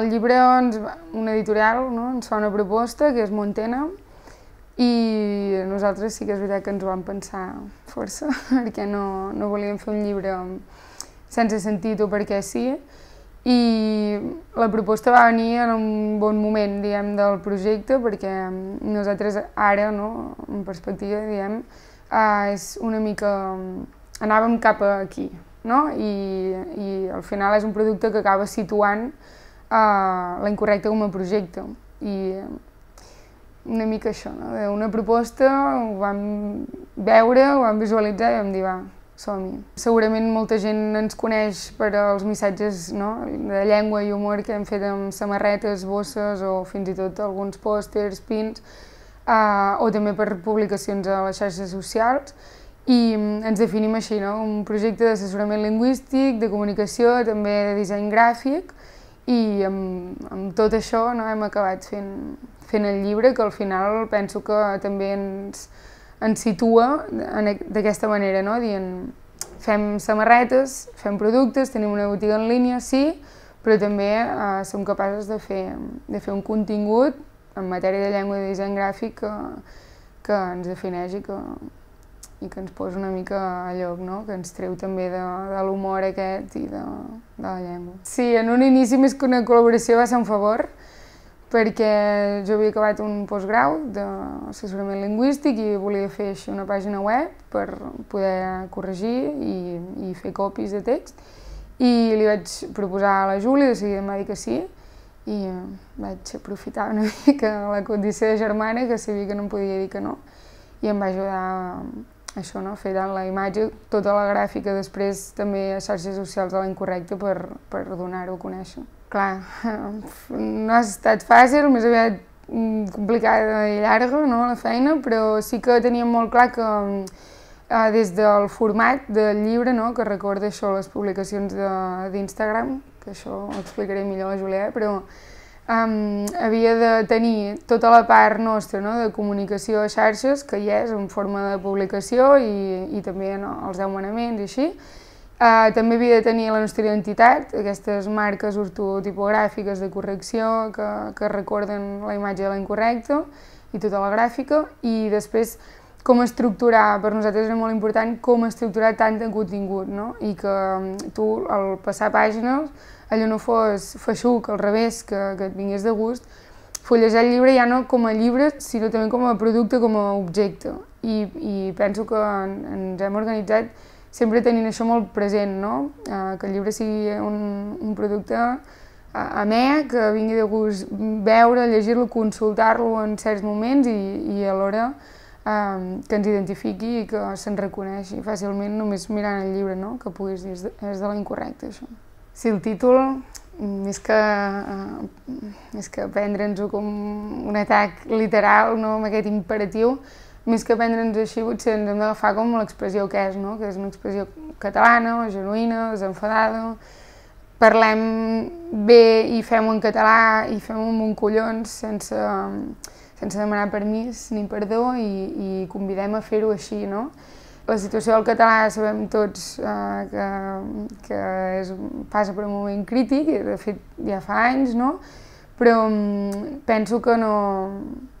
El llibre, una editorial, no? Ens fa una proposta, que és Montena, i nosaltres sí que és veritat que ens ho vam pensar força, perquè no volíem fer un llibre sense sentit o perquè sí, i la proposta va venir en un bon moment, diguem, del projecte, perquè nosaltres ara, no, en perspectiva, diguem, és una mica... anàvem cap aquí, no? I al final és un producte que acaba situant La Incorrecta com a projecte. I una mica això, no? Una proposta, ho vam veure, ho vam visualitzar i vam dir, va, som-hi. Segurament molta gent ens coneix per als missatges, no? De llengua i humor que hem fet amb samarretes, bosses o fins i tot alguns pòsters, pins, o també per publicacions a les xarxes socials. I ens definim així, no? Un projecte d'assessorament lingüístic, de comunicació, també de disseny gràfic, i amb tot això hem acabat fent el llibre, que al final penso que també ens situa d'aquesta manera, no? Dient, fem samarretes, fem productes, tenim una botiga en línia, sí, però també som capaços de fer un contingut en matèria de llengua i de disseny gràfic que ens defineix i que ens posa una mica a lloc, no? Que ens treu també de l'humor aquest i de la llengua. Sí, en un inici més que una col·laboració va ser un favor, perquè jo havia acabat un postgrau d'assessorament lingüístic i volia fer així una pàgina web per poder corregir i fer copies de text. I li vaig proposar a la Júlia, de seguida em va dir que sí, i vaig aprofitar una mica la condició de germana, que sabia que no em podia dir que no, i em va ajudar això, no? Fer tant la imatge, tota la gràfica, després també a xarxes socials de La Incorrecta per donar-ho a conèixer. Clar, no ha estat fàcil, més aviat complicada i llarga, no, la feina, però sí que teníem molt clar que des del format del llibre, no, que recorda això, les publicacions d'Instagram, que això ho explicaré millor a la Júlia, però havia de tenir tota la part nostra, no, de comunicació a xarxes, que hi és en forma de publicació i també els 10 manaments i així. També havia de tenir la nostra identitat, aquestes marques ortotipogràfiques de correcció que recorden la imatge de La Incorrecta i tota la gràfica, i després com estructurar, per nosaltres era molt important com estructurar tant de contingut, no? I que tu, al passar pàgines, allò no fos feixuc, al revés, que et vingués de gust, fullejar el llibre ja no com a llibre, sinó també com a producte, com a objecte. I penso que ens hem organitzat sempre tenint això molt present, no? Que el llibre sigui un producte amè, que vingui de gust veure, llegir-lo, consultar-lo en certs moments i alhora que ens identifiqui i que se'n reconeixi fàcilment només mirant el llibre, no? Que puguis dir, és de La Incorrecta, això. Sí, el títol, més que prendre'ns-ho com un atac literal, no? Amb aquest imperatiu, més que prendre'ns-ho així, potser ens hem d'agafar com l'expressió que és, no? Que és una expressió catalana, genuïna, desenfadada. Parlem bé i fem-ho en català i fem-ho amb un collons sense demanar permís ni perdó i convidem a fer-ho així, no? La situació del català sabem tots que passa per un moment crític, i de fet ja fa anys, no? Però penso que no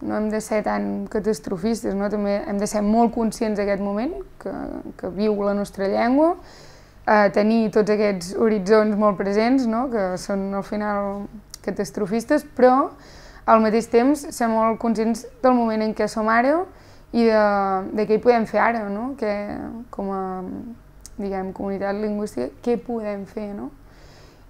hem de ser tan catastrofistes, no? També hem de ser molt conscients d'aquest moment que viu la nostra llengua, tenir tots aquests horitzons molt presents, no? Que són al final catastrofistes, però al mateix temps ser molt conscients del moment en què som ara i de què hi podem fer ara, no? Que com a, diguem, comunitat lingüística, què podem fer, no?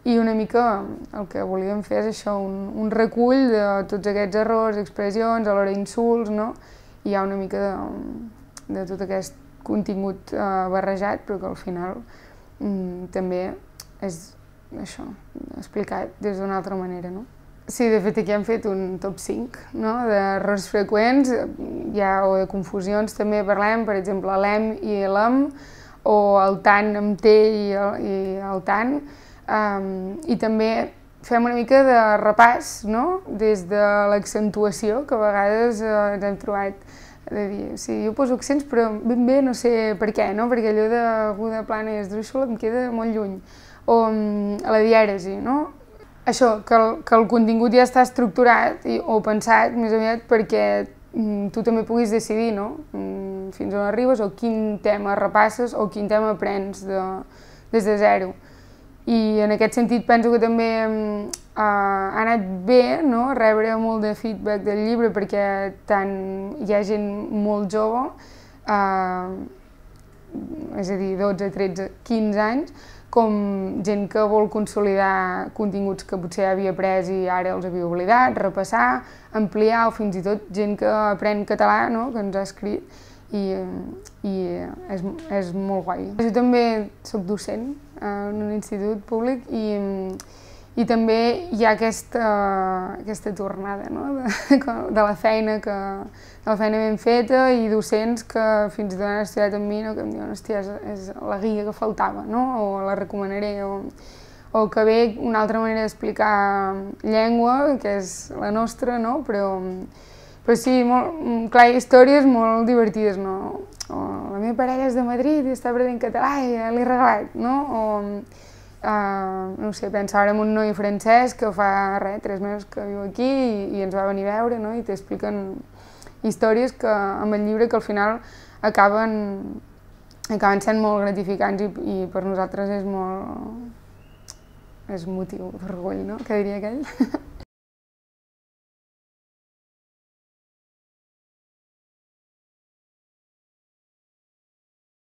I una mica el que volíem fer és això, un recull de tots aquests errors, expressions, alhora insults, no? I hi ha una mica de tot aquest contingut barrejat, però que al final també és això, explicat des d'una altra manera, no? Sí, de fet aquí hem fet un top 5, no? D'errors freqüents, o de confusions també parlem, per exemple, l'em i l'em, o el tant amb T i el tant, i també fem una mica de repàs, no? Des de l'accentuació, que a vegades ens hem trobat de dir, sí, jo poso accents però ben bé no sé per què, no? Perquè allò d'aguda, plana i esdrúixola em queda molt lluny. O a la dièresi, no? això, que el contingut ja està estructurat o pensat més aviat perquè tu també puguis decidir, no? Fins on arribes o quin tema repasses o quin tema aprens des de zero. I en aquest sentit penso que també ha anat bé, no?, rebre molt de feedback del llibre perquè tant hi ha gent molt jove, és a dir, 12, 13, 15 anys, com gent que vol consolidar continguts que potser havia après i ara els havia oblidat, repassar, ampliar, o fins i tot gent que aprèn català, no?, que ens ha escrit, i és molt guai. Jo també soc docent en un institut públic i també hi ha aquesta tornada, no?, de la feina ben feta i docents que fins i tot han estudiat amb mi, no?, que em diuen, hòstia, és la guia que faltava, no?, o la recomanaré, o que ve una altra manera d'explicar llengua, que és la nostra, no?, però sí, clar, hi ha històries molt divertides, no? O la meva parella és de Madrid i està aprenent català i ja l'he regalat, no? O, no sé, pensa ara en un noi francès que fa, 3 mesos que viu aquí i ens va venir a veure, no?, i t'expliquen històries amb el llibre que al final acaben sent molt gratificants i per nosaltres és motiu d'orgull, no?, que diria aquell.